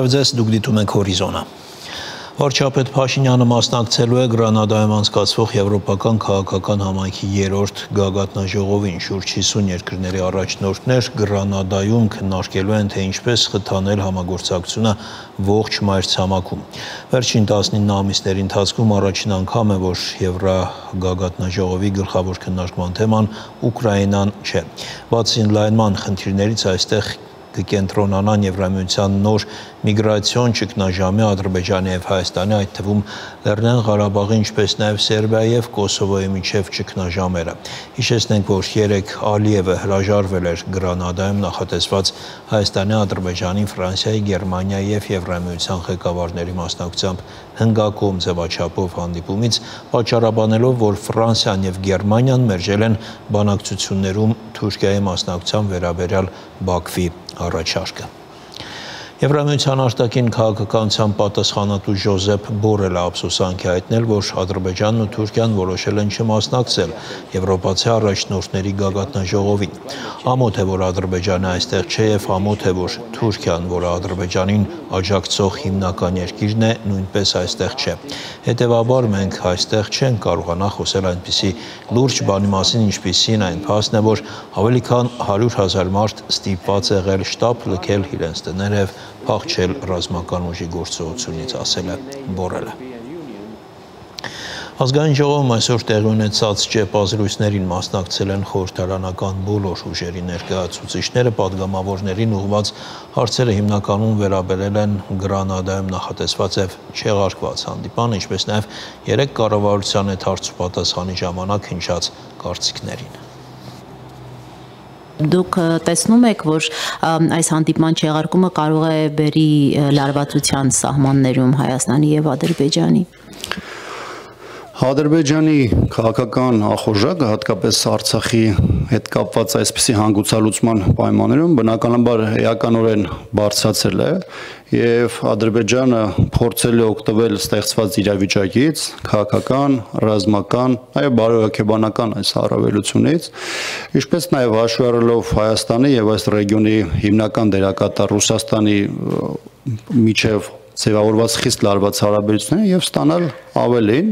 Բարև ձեզ, դուք դիտում եք Հորիզոնը։ Վարչապետ Փաշինյանը մասնակցելու է Գրանադայում անցկացվող Եվրոպական քաղաքական համայնքի 3-րդ գագաթնաժողովին։ Շուրջ 50 երկրների առաջնորդներ Գրանադայում քննարկելու են, թե ինչպես խթանել համագործակցությունը ողջ մայրցամաքում։ Վերջին 19 ամիսների ընթացքում առաջին անգամ է, որ Եվրագագաթնաժողովի գլխավոր քննարկման թեման Ուկրաինան չէ։ Բացի ընդլայնման խնդիրներից այստեղ կկենտրոնանան Եվրամիության նոր միգրացիոն ճգնաժամի, Ադրբեջանի և Հայաստանի, այդ թվում Լեռնային Ղարաբաղի, ինչպես նաև Սերբիայի և Կոսովոյի միջև ճգնաժամերը։ Հիշեցնենք, որ երեկ Ալիևը հրաժարվել էր Գրանադայում նախատեսված Հայաստանի, Ադրբեջանի, Ֆրանսիայի, Գերմանիայի և Եվրամիության ղեկավարների մասնակցությամբ հնգակողմ ձևաչափով հանդիպումից, պատճառաբանելով, որ Ֆրանսիան և Գերմանիան մերժել են բանակցություններում Թուրքիայի մասնակցության վերաբերյալ Բաքվի առաջարկը։ Եվրամիության արտաքին քաղաքականության պատասխանատու Ժոզեփ Բորելը ափսոսանք է հայտնել, որ Ադրբեջանն ու Թուրքիան որոշել են չմասնակցել եվրոպացի առաջնորդների գագաթնաժողովին։ Ամոթ է, որ Ադրբեջանը այստեղ չէ և ամոթ է, որ Թուրքիան, որը Ադրբեջանին աջակցող հիմնական երկիրն է, նույնպես այստեղ չէ։ Հետևաբար մենք այստեղ չենք կարողանա խոսել այնպիսի լուրջ բանի մասին, ինչպիսին այն փաստն է, որ ավելի քան 100,000 մարդ ստիպված է եղել շտապ լքել իրենց տները և փախչել ռազմական ուժի գործողությունից, ասել է Բորելը։ Ազգային ժողովում այսօր տեղի ունեցած ճեպազրույցներին մասնակցել են խորհրդարանական բոլոր ուժերի ներկայացուցիչները, падգամավորներին ուղղված հարցերը հիմնականում վերաբերել են Գրանադայում նախատեսված և չեղարկված հանդիպան, ինչպես նաև երեք կառավարության հետ հարց ու պատասխանի ժամանակ հնչած կարծիքներին։ Դուք տեսնում եք, որ այս հանդիպման չեղարկումը կարող է բերի լարվածության սահմաններում Հայաստանի և Ադրբեջանի։ Ադրբեջանի քաղաքական ախորժակը, հատկապես Արցախի հետ կապված այսպիսի հանգուցալուծման պայմաններում բնականաբար էականորեն բարձրացել է և Ադրբեջանը փորձել է օգտվել ստեղծված իրավիճակից, քաղաքական, ռազմական, նաև բարոյաքեբանական այս առավելությունից, ինչպես նաև հաշվի առնելով Հայաստանի և այս ռեգիոնի հիմնական դերակատար Ռուսաստանի միջև ձևավորված խիստ լարված հարաբերությունները և ստանալ ավելին,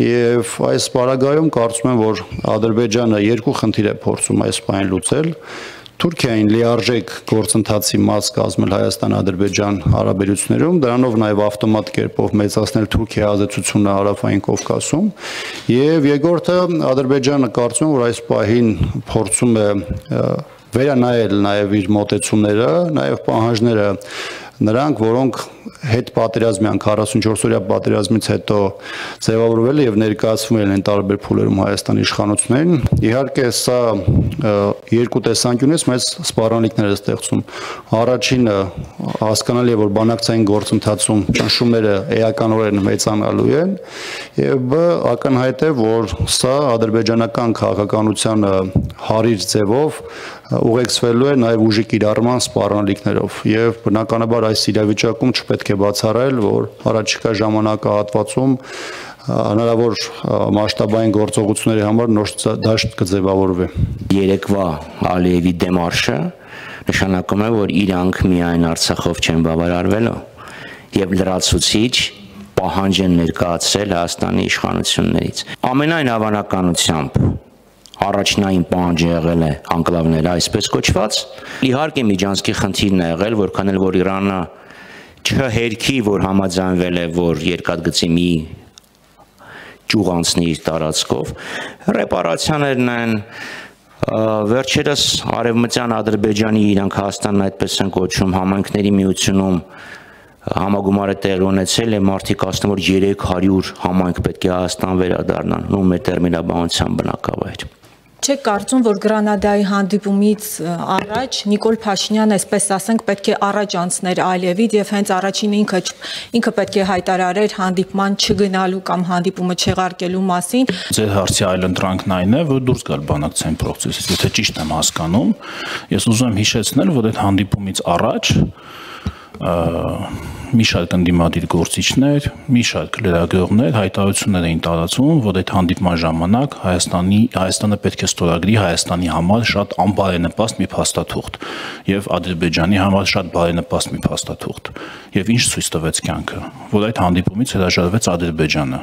և այս պարագայում կարծում եմ, որ Ադրբեջանը երկու խնդիր է փորձում այս պահին լուծել, Թուրքիային լիարժեք գործընթացի մաս կազմել Հայաստան-Ադրբեջան հարաբերություններում, դրանով նաև ավտոմատ կերպով մեծացնել Թուրքիայի ազդեցությունը Հարավային Կովկասում, և երկրորդը Ադրբեջանը կարծում եմ, որ այս պահին փորձում է վերանայել նաև իր մոտեցումները, նաև պահանջները նրանք, որոնք հետ պատերազմյան 44-օրյա պատերազմից հետո ձևավորվել և ներկայացվում են տարբեր փուլերում Հայաստանի իշխանություններին, իհարկե սա երկու տեսանկյունից մեծ սպառնալիքներ է ստեղծում։ Առաջինը հասկանալի է, որ բանակցային գործընթացում ճնշումները էականորեն մեծանալու են, և բ ակնհայտ է, որ սա ադրբեջանական քաղաքականությանը հարիր ձևով ուղեկցվելու է նաև ուժի կիրառման սպառնալիքներով, և բնականաբար այս իրավիճակում չպետք է բացառել, որ առաջիկա ժամանակահատվածում հնարավոր մասշտաբային գործողությունների համար նոր դաշտ կձևավորվի։ Երեկվա Ալիևի դեմարշը նշանակում է, որ իրանք միայն Արցախով չեն բավարարվելու և լրացուցիչ պահանջ են ներկայացրել Հայաստանի իշխանություններից։ Ամենայն հավանականությամբ առաջնային պահանջը եղել է անկլավները այսպես կոչված։ Իհարկե միջանցքի խնդիրն է եղել, որքան էլ որ Իրանը չհերքի, որ համաձայնվել է, որ երկաթգծի մի ճյուղ անցնի իր տարածքով, ռեպարացիաներն են, վերջերս Արևմտյան Ադրբեջանի, իրանք Հայաստանն այդպես են կոչում, համայնքների միությունում համագումար է տեղի ունեցել և մարդիկ ասում, որ 300 համայնք պետք է Հայաստան վերադառնան, ու մեր տերմինաբանության բնակավայր։ Չեք կարծում, որ Գրանադայի հանդիպումից առաջ Նիկոլ Փաշինյանը, այսպես ասենք, պետք է առաջ անցներ Ալիևից և հենց առաջին ինքը պետք է հայտարարեր հանդիպման չգնալու կամ հանդիպումը չեղարկելու մասին։ Ձեր հարցի այլընտրանքն այն է, որ դուրս գալ բանակցային պրոցեսից, եթե ճիշտ եմ հասկանում, ես ուզում եմ հիշեցնել, որ այդ հանդիպումից առաջ մի շարք ընդդիմադիր գործիչներ, մի շարք լրագրողներ հայտարարություններ էին տարածում, որ այդ հանդիպման ժամանակ Հայաստանը պետք է ստորագրի Հայաստանի համար շատ անբարենպաստ մի փաստաթուղթ եւ Ադրբեջանի համար շատ բարենպաստ մի փաստաթուղթ։ Եվ ինչ ցույց տվեց կյանքը, որ այդ հանդիպումից հրաժարվեց Ադրբեջանը։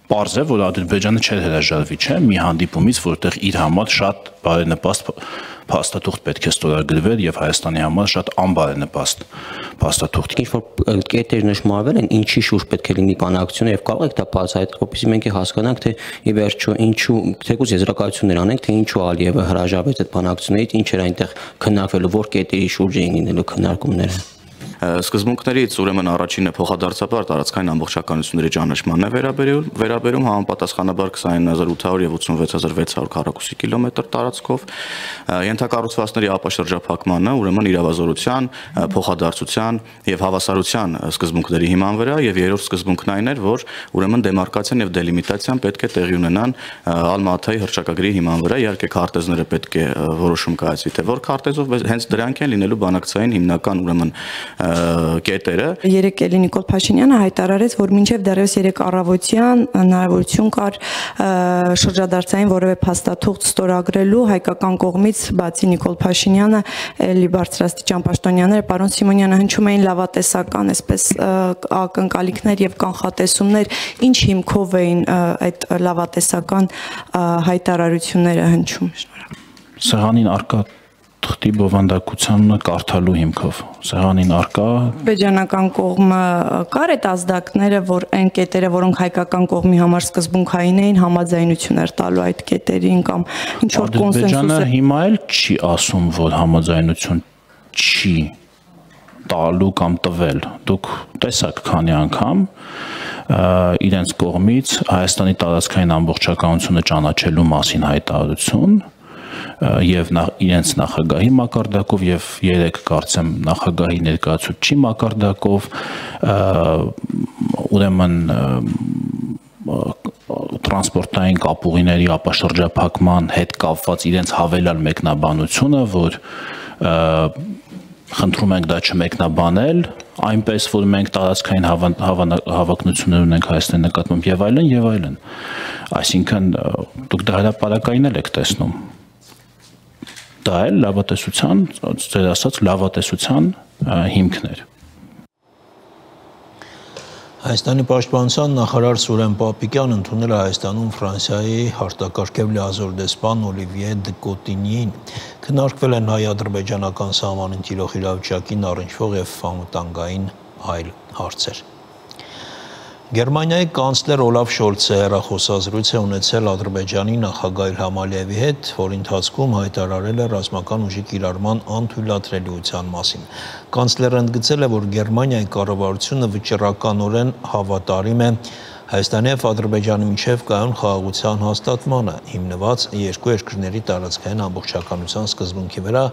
Պարզ է, որ Ադրբեջանը չէր հրաժարվի, չէ, մի հանդիպումից, որտեղ իր համար շատ բարենպաստ փաստաթուղթ պետք է ստորագրվեր եւ Հայաստանի համար շատ անբարենպաստ փաստաթուղթ։ Ինչ որ կետեր նշмарվել են, ինչի շուրջ պետք է լինի բանակցությունը եւ կարող եք դա բացահայտել, որպեսզի մենք հասկանանք, թե ի վերջո ինչու թեկուզ եզրակացություններ անենք, թե ինչու Ալիևը հրաժարվեց այդ բանակցությունից, ինչ էր այնտեղ քննարկվելու, որ կետերի շուրջ էին լինելու քննարկումները։ Սկզբունքներից ուրեմն առաջինը փոխադարձաբար տարածքային ամբողջականությունների ճանաչմանն է վերաբերում համապատասխանաբար 29800 եւ 86600 քառակուսի կիլոմետր տարածքով, ենթակառուցվածքների ապաշրջափակմանը ուրեմն իրավազորության, փոխադարձության եւ հավասարության սկզբունքների հիման վրա, եւ երրորդ սկզբունքն այն էր, որ ուրեմն դեմարկացիան եւ դելիմիտացիան պետք է տեղի ունենան Ալմատայի հռչակագրի հիման վրա, իհարկե քարտեզները պետք է որոշում կայացվի, թե որ քարտեզով, հենց դրանք են լինելու բանակցային հիմնական ուրեմն կետերը։ Երեկ էլի Նիկոլ Փաշինյանը հայտարարեց, որ մինչև դեռևս 3 առավոտյան հնարավորություն կար շրջադարձային որևէ փաստաթուղթ ստորագրելու հայկական կողմից, բացի Նիկոլ Փաշինյանը, էլի բարձրաստիճան պաշտոնյաները, պարոն Սիմոնյանը հնչում էին լավատեսական, այսպես ակնկալիքներ եւ կանխատեսումներ, ինչ հիմքով էին այդ լավատեսական հայտարարությունները հնչում։ Սեղանին արկա թղթի բովանդակությանը կարդալու հիմքով, սեղանին արկա Ադրբեջանական կողմը կար այդ ազդակները, որ այն կետերը, որոնք հայկական կողմի համար սկզբունքային էին, համաձայնություններ տալու այդ կետերին կամ ինչ որ կոնսենսուս։ Ադրբեջանը հիմա էլ չի ասում, որ համաձայնություն չի տալու կամ տվել։ Դուք տեսաք քանի անգամ իրենց կողմից Հայաստանի տարածքային ամբողջականությունը ճանաչելու մասին հայտարարություն եւ իրենց նախագահի մակարդակով եւ երեք կարծեմ նախագահի ներկայացուցիչի մակարդակով ուրեմն տրանսպորտային կապուղիների ապաշրջափակման հետ կապված իրենց հավելյալ մեկնաբանությունը, որ խնդրում ենք դա չմեկնաբանել, այնպես որ մենք տարածքային հավակնություններ ունենք Հայաստանի նկատմամբ եւ այլն, այսինքն դուք դա հրապարակային եք տեսնում։ Դա էլ լավատեսության, ձեր ասած լավատեսության հիմքներ։ Հայաստանի պաշտպանության նախարար Սուրեն Պապիկյան ընդունել է Հայաստանում Ֆրանսիայի արտակարգև լիազոր դեսպան Օլիվիե դը Կոտինիին։ Քննարկվել են հայ-ադրբեջանական սահմանին տիրող իրավիճակին առնչվող եւ անվտանգային այլ հարցեր։ Գերմանիայի կանցլեր Օլաֆ Շոլցը հեռախոսազրույց է ունեցել Ադրբեջանի նախագահ Իլհամ Ալիևի հետ, որի ընթացքում հայտարարել է ռազմական ուժի կիրառման անթույլատրելիության մասին։ Կանցլերը ընդգծել է, որ Գերմանիայի կառավարությունը վճռականորեն հավատարիմ է Հայաստանի եւ Ադրբեջանի միջև կայուն խաղաղության հաստատմանը, հիմնված երկու երկրների տարածքային ամբողջականության սկզբունքի վրա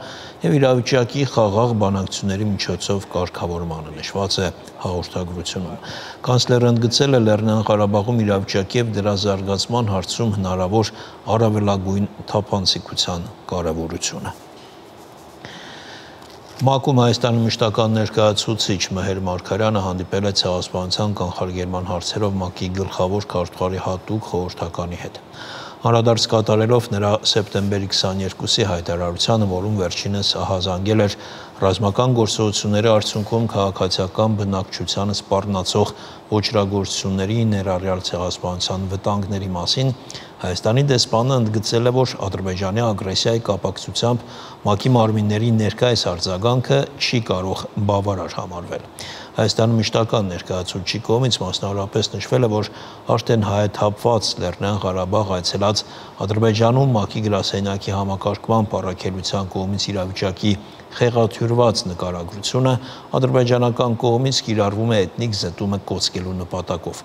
եւ իրավիճակի խաղաղ բանակցությունների միջոցով կարգավորմանը, նշված է հաղորդագրությունում։ Կանցլերը ընդգծել է Լեռնային Ղարաբաղում իրավիճակի եւ դրա զարգացման հարցում հնարավոր առավելագույն թափանցիկության կարեւորությունը։ ՄԱԿ-ում Հայաստանի մշտական ներկայացուցիչ Մեհեր Մարգարյանը հանդիպել է ցեղասպանության կանխարգելման հարցերով ՄԱԿ-ի գլխավոր քարտուղարի հատուկ խորհրդականի հետ։ Անդրադարձ կատարելով նրա սեպտեմբերի 22-ի հայտարարությանը, որում վերջինս ահազանգել էր ռազմական գործողությունների արդյունքում քաղաքացիական բնակչությանը սպառնացող ոճրագործությունների ներառյալ ցեղասպանության վտանգների մասին, Հայաստանի դեսպանը ընդգծել է, որ Ադրբեջանի ագրեսիայի կապակցությամբ ՄԱԿ-ի մարմինների ներկայիս արձագանքը չի կարող բավարար համարվել։ Հայաստանի մշտական ներկայացուցիչի կողմից մասնավորապես նշվել է, որ արդեն հայաթափված Լեռնային Ղարաբաղ այցելած Ադրբեջանում ՄԱԿ-ի գրասենյակի համակարգման առաքելության կողմից իրավիճակի խեղաթյուրված նկարագրությունը ադրբեջանական կողմից կիրառվում է էթնիկ զտումը կոծկելու նպատակով։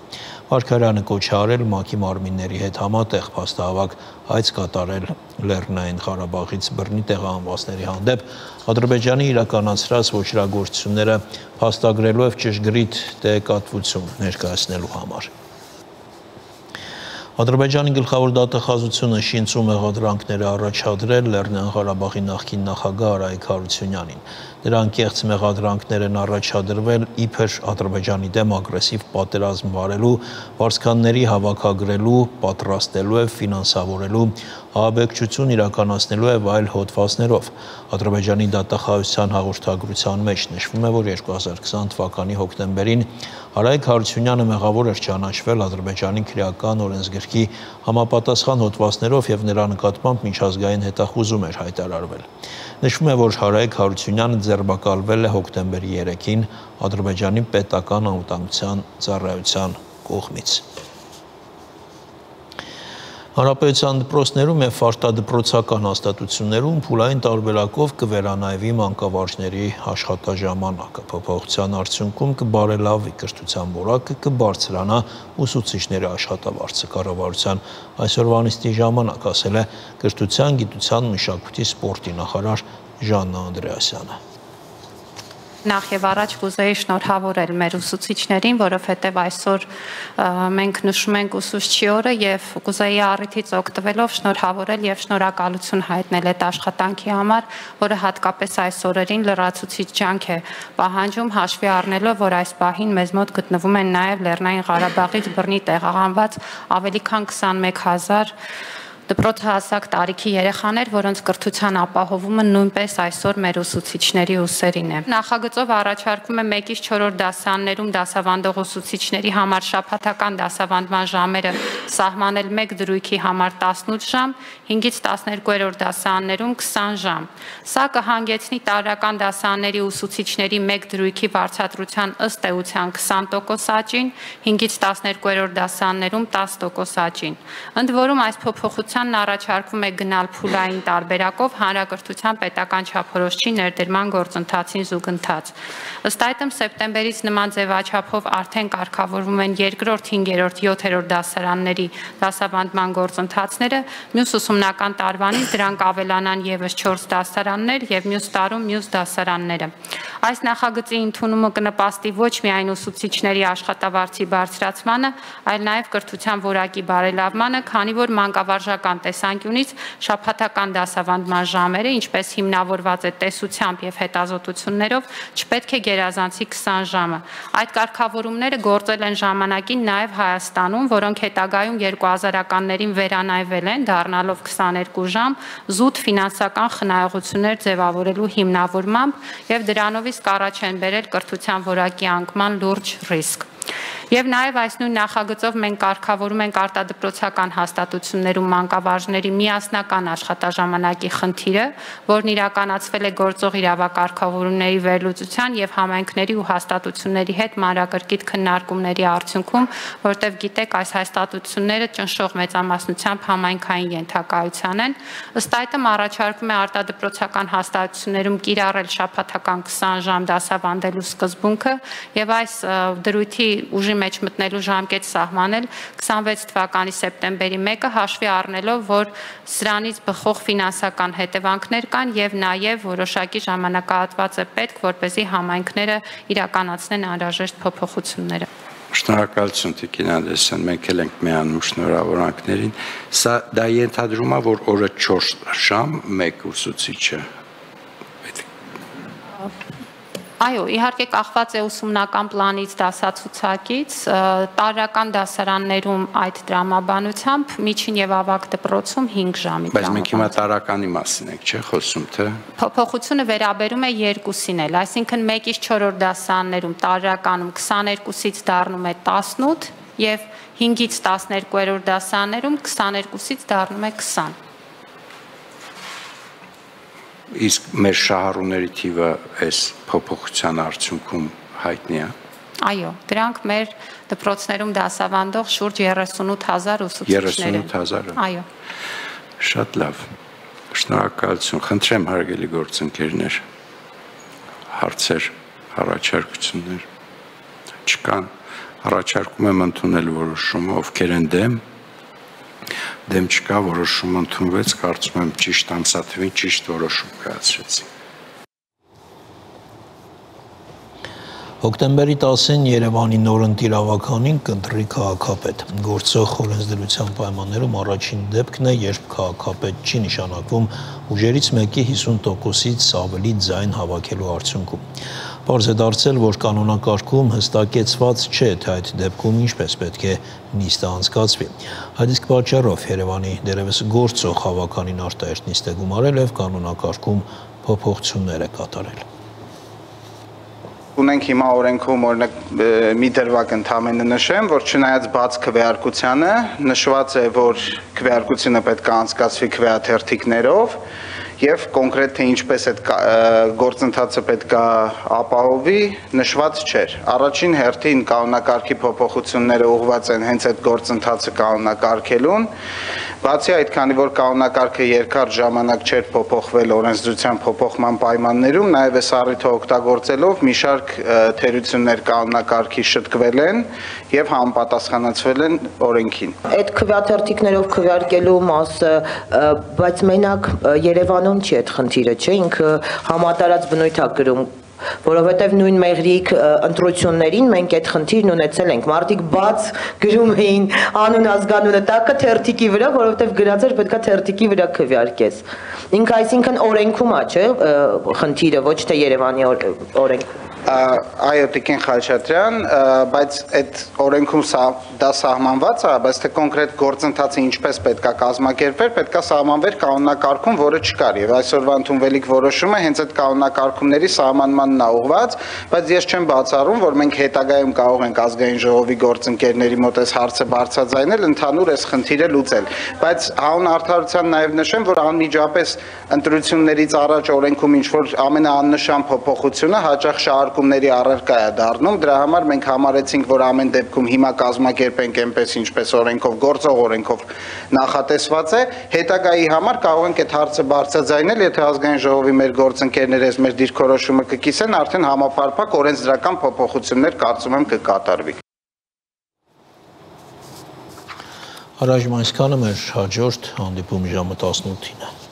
Մարգարյանը կոչ է արել ՄԱԿ-ի մարմինների հետ համատեղ փաստահավաք այց կատարել Լեռնային Ղարաբաղից բռնի տեղահանվածների հանդեպ Ադրբեջանի իրականացրած ոճրագործությունները փաստագրելու եւ ճշգրիտ տեղեկատվություն ներկայացնելու համար։ Ադրբեջանի գլխավոր դատախազությունը շինծու մեղադրանքներ է առաջադրել Լեռնային Ղարաբաղի նախկին նախագահ Արայիկ Հարությունյանին։ Նրանք կեղծ մեղադրանքներ են առաջադրվել իբր Ադրբեջանի դեմ ագրեսիվ պատերազմ վարելու, վարձկանների հավաքագրելու, պատրաստելու եւ ֆինանսավորելու, ահաբեկչություն իրականացնելու եւ այլ հոդվածներով։ Ադրբեջանի դատախազության հաղորդագրության մեջ նշվում է, որ 2020 թվականի հոկտեմբերին Արայք Հարությունյանը մեղավոր էր ճանաչվել Ադրբեջանի քրեական օրենսգրքի համապատասխան հոդվածներով եւ նրա նկատմամբ միջազգային հետախուզում էր հայտարարվել։ Նշվում է, որ Արայք Հարությունյանը ձերբակալվել է հոկտեմբերի 3-ին Ադրբեջանի պետական անվտանգության ծառայության կողմից։ Հանրապետության դպրոցներում եւ արտադպրոցական հաստատություններում փուլային տարբերակով կվերանայվի մանկավարժների աշխատաժամանակը։ Փոփոխության արդյունքում կբարելավի կրթության որակը, կբարձրանա ուսուցիչների աշխատավարձը։ Կառավարության այսօրվա նիստի ժամանակ ասել է կրթության, գիտության, մշակույթի, սպորտի նախարար Ժաննա Անդրեասյանը։ Նախ եւ առաջ կուզեի շնորհավորել մեր ուսուցիչներին, որովհետեւ այսօր մենք նշում ենք ուսուցչի օրը եւ կուզեի առիթից օգտվելով շնորհավորել եւ շնորհակալություն հայտնել այդ աշխատանքի համար, որը հատկապես այս օրերին լրացուցիչ ջանք է պահանջում, հաշվի առնելով, որ այս պահին մեզ մոտ գտնվում են նաեւ Լեռնային Ղարաբաղից բռնի տեղահանված ավելի քան 21000 դպրոցահասակ տարիքի երեխաներ, որոնց կրթության ապահովումը նույնպես այսօր մեր ուսուցիչների ուսերին է։ Նախագծով առաջարկվում է 1-ից 4-րդ դասարաններում դասավանդող ուսուցիչների համար շաբաթական դասավանդման ժամերը սահմանել 1 դրույքի համար 18 ժամ, 5-ից 12-րդ դասարաններում 20 ժամ։ Սա կհանգեցնի տարրական դասարանների ուսուցիչների 1 դրույքի վարձատրության ըստ էության 20% աճին, 5-ից 12-րդ դասարաններում 10% աճին։ Ընդ որում այս փոփոխության առաջարկվում է գնալ փուլային տարբերակով հանրակրթության պետական չափորոշիչի ներդրման գործընթացին զուգընթաց։ Ըստ այդմ սեպտեմբերից նման ձևաչափով արդեն կարգավորվում են 2-րդ, 5-րդ, 7-րդ դասարանների դասավանդման գործընթացները, մյուս ուսումնական տարվանից դրանք ավելանան եւս 4 դասարաններ եւ մյուս տարում մյուս դասարանները։ Այս նախագծի ընդունումը կնպաստի ոչ միայն ուսուցիչների աշխատավարձի բարձրացմանը, այլ նաեւ կրթության որակի բարելավմանը, քանի որ մանկավարժական տեսանկյունից շաբաթական դասավանդման ժամերը, ինչպես հիմնավորված է տեսությամբ եւ հետազոտություններով, չպետք է գերազանցի 20 ժամը։ Այդ կարգավորումները գործել են ժամանակին նաեւ Հայաստանում, որոնք հետագայում 2000-ականներին վերանայվել են, դառնալով 22 ժամ, զուտ ֆինանսական խնայողություններ ձևավորելու հիմնավորմամբ եւ դրանով իսկ առաջ են բերել կրթության որակի անկման լուրջ ռիսկ։ Եվ նաև այս նույն նախագծով մենք կարգավորում ենք արտադպրոցական հաստատություններում մանկավարժների միասնական աշխատաժամանակի խնդիրը, որն իրականացվել է գործող իրավակարգավորումների վերլուծության եւ համայնքների ու հաստատությունների հետ մանրակրկիտ քննարկումների արդյունքում, որտեղ գիտեք, այս հաստատությունները ճնշող մեծամասնությամբ համայնքային ենթակայության են, ըստ այդմ առաջարկվում է արտադպրոցական հաստատություններում կիրառել շաբաթական 20 ժամ դասավանդելու սկզբունքը եւ այս դրույթի ուժի մեջ մտնելու ժամկետ սահմանել 26 թվականի սեպտեմբերի 1-ը հաշվի առնելով, որ սրանից բխող ֆինանսական հետևանքներ կան եւ նաեւ որոշակի ժամանակահատված է պետք, որպեսզի համայնքները իրականացնեն անհրաժեշտ փոփոխությունները։ Շնորհակալություն Տիկին Անդրեասյան, մենք էլ ենք միանում շնորհավորանքներին։ Սա դա ենթադրում է, որ օրը 4 ժամ մեկ ուսուցիչը։ Այո, իհարկե կախված է ուսումնական պլանից, դասացուցակից, տարրական դասարաններում այդ տրամաբանությամբ, միջին եւ ավագ դպրոցում 5 ժամի տրամաբանությամբ։ Բայց մենք հիմա տարրականի մասին ենք, չէ՞, խոսում, թե։ Փոփոխությունը վերաբերում է երկուսին էլ, այսինքն 1-ից 4-րդ դասարաններում տարրականում 22-ից դառնում է 18 եւ 5-ից 12-րդ դասարաններում 22-ից դառնում է 20։ Իսկ մեր շահառուների թիվը այս փոփոխության արդյունքում հայտնի է։ Այո, դրանք մեր դպրոցներում դասավանդող շուրջ 38000 ուսուցիչներ են։ 38000-ը։ Այո։ Շատ լավ։ Շնորհակալություն։ Խնդրեմ հարգելի գործընկերներ, հարցեր, առաջարկություններ չկան։ Առաջարկում եմ ընդունել որոշումը, ովքեր են դեմ չկա, որոշումը ընդունվեց, կարծում եմ ճիշտ ամսաթվին ճիշտ որոշում կայացրեցին։ Հոկտեմբերի 10-ին Երևանի նորընտիր ավականին կընտրի քաղաքապետ։ Գործող օրենսդրության պայմաններում առաջին դեպքն է, երբ քաղաքապետ չի նշանակվում ուժերից մեկի 50%-ից ավելի ձայն հավաքելու արդյունքում։ Պարզ է դարձել, որ կանոնակարգում հստակեցված չէ, թե այդ դեպքում ինչպես պետք է նիստը անցկացվի։ Այդ իսկ պատճառով Երևանի դերևս գործող հավականին արտահերթ նիստ է գումարել եւ կանոնակարգում փոփոխություններ է կատարել։ Ունենք հիմա օրենքում օրինակ մի դրվագ ընդհանրապես նշեմ, որ չնայած բաց քվեարկությանը նշված է, որ քվեարկությունը պետք է անցկացվի քվեաթերթիկներով եւ կոնկրետ թե ինչպես այդ գործընթացը պետք է ապահովի, նշված չէր։ Առաջին հերթին կանոնակարգի փոփոխությունները ուղղված են հենց այդ գործընթացը կանոնակարգելուն, բացի այդ, քանի որ կանոնակարգը երկար ժամանակ չէր փոփոխվել օրենսդրության փոփոխման պայմաններում, նաեւ այս առիթը օգտագործելով մի շարք թերություններ կանոնակարգի շտկվել են եւ համապատասխանացվել են օրենքին։ Այդ քվեաթերթիկներով քվեարկելու մասը, բայց մենակ Երևանում չի այդ խնդիրը, չէ, ինքը համատարած բնույթ է գրում, որովհետև նույն մեղրիկ ընտրություններին մենք այդ խնդիրն ունեցել ենք։ Մարդիկ բաց գրում էին անուն ազգանունը տակը թերթիկի վրա, որովհետև գրած էր պետքա թերթիկի վրա քվեարկես։ Ինքը այսինքն օրենքում է, չէ, խնդիրը, ոչ թե Երևանի օրենքում։ Այո, Տիկին Խաչատրյան, բայց այդ օրենքում դա սահմանված է, բայց թե կոնկրետ գործընթացը ինչպես պետք է կազմակերպվեր, պետք է սահմանվեր կանոնակարգում, որը չկար, եւ այսօրվա ընդունվելիք որոշումը հենց այդ կանոնակարգումների սահմանմանն է ուղղված, բայց ես չեմ բացառում, որ մենք հետագայում կարող ենք ազգային ժողովի գործընկերների մոտ այս հարցը բարձրաձայնել, ընդհանուր այս խնդիրը լուծել, բայց հանուն արդարության նաեւ նշեմ, որ անմիջապես ընտրություններից առաջ օրենքում ինչ որ ամենաաննշան փոփոխությունը հաճախ շահարկումների առարկա է դառնում, դրա համար մենք համարեցինք, որ ամեն դեպքում հիմա կազմակերպենք այնպես ինչպես օրենքով, գործող օրենքով նախատեսված է, հետագայի համար կարող ենք այդ հարցը բարձրաձայնել, եթե ազգային ժողովի մեր գործընկերները այս մեր դիրքորոշումը կկիսեն, արդեն համապարփակ օրենսդրական փոփոխություններ կարծում եմ կկատարվի։ Առայժմ այսքանը, մեր հաջորդ հանդիպում ժամը 18-ին է։